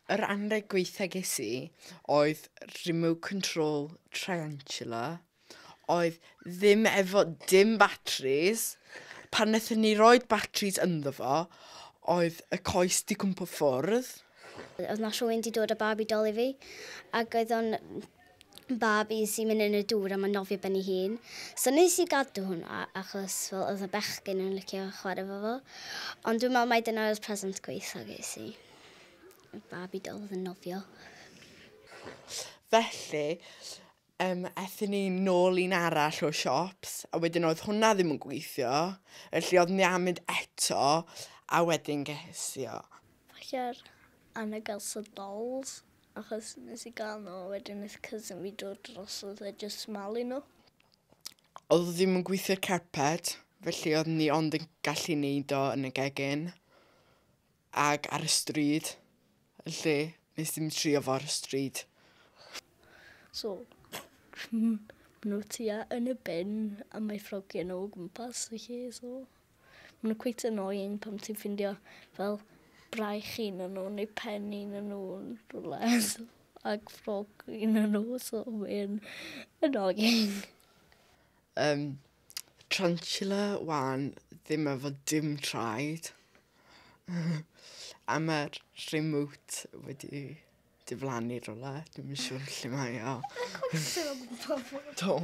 Yr anreg gweitha ges i oedd remote control tarantula oedd ddim efo dim batteries. Pan wnaethon ni roid batteries ynddo fo, oedd y coes 'di cwmpo ffwrdd. Oedd 'na rhywun 'di dod â Barbie doll i fi, ac oedd o'n Barbie sy'n mynd yn y dŵr a mae'n nofio ben ei hun. So nes i gadw hwnna achos, wel, oedd y bechgyn yn licio chwarae efo fo. Ond dwi'n meddwl mai dyna'r present gwaetha ges i. Y Barbie doll oedd yn nofio. Felly, aethon ni nôl un arall o shops, a wedyn oedd hwnna ddim yn gweithio, felly oedd ni am mynd eto, a wedyn ges i o. Falle'r Anna Elsa dolls, achos nes i gael nhw, a wedyn nes cousin fi dod drosodd a just malu nhw. Oedd o ddim yn gweithio'r carpet, felly oedd ni ond yn gallu neud o yn y gegin ag ar y stryd. Felly, nes i'm trio fo ar y stryd. So, maen nhw tua yn y bin a mae ffrogiau nhw o gwmpas y lle, so maen nhw quite annoying pan ti'n ffindio fel braich un o'n nhw neu pen un o'n nhw yn rhywle, so, ac ffrog un o'n nhw, so mae'n annoying. Tarantula wan ddim efo dim traed. A mae'r remote wedi diflannu rhywle. Dwi'm yn siŵr lle mae o. Do.